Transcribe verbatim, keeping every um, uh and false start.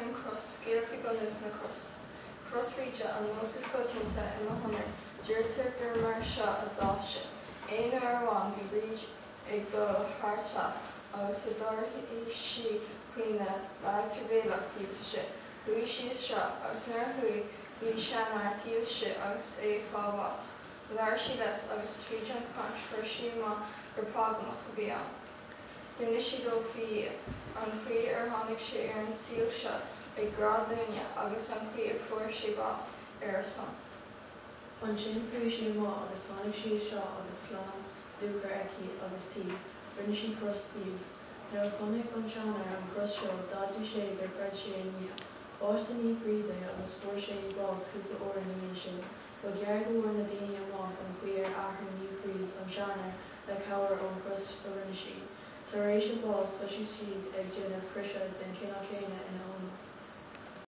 an chros, scéal faoi bhunús na croise. Cros Bhríde an nós is coitianta ina honóir, deirtear gur mar seo a d'fhás sé. Aon uair amháin bhí Bríd ag dul thar teach agus a d'airigh sí caoineadh lag truamhéalach taobh istigh. Chuaigh sí isteach agus nuair a chuaigh bhí seanfhear taobh istigh agus é ag fáil bháis. Labhair sí leis agus tríd an chaint fuair sí amach gur págánach a bhí ann. D'inis sé dó faoi Dhia, an chaoi ar tháinig sé ar an saol seo ag grá dúinne agus an chaoi a fuair sé bás ar ár son. Ansin chuaigh sí amach agus tháinig sí isteach agus slám luachair aici agus tuí. Rinne sí cros díobh. Nuair a chonaic an seanfhear an chros seo, d'admhaigh sé gur chreid sé i nDia. Bhaist Naomh Bríd é agus fuair sé bás cúpla uair ina dhiaidh sin. Ba ghearr go bhfuair na daoine amach an chaoi ar athraigh Naomh Bríd an seanfhear le cabhair ón chros a rinne sí. Tar éis a bás thosaigh siad ag déanamh croise den chineál céanna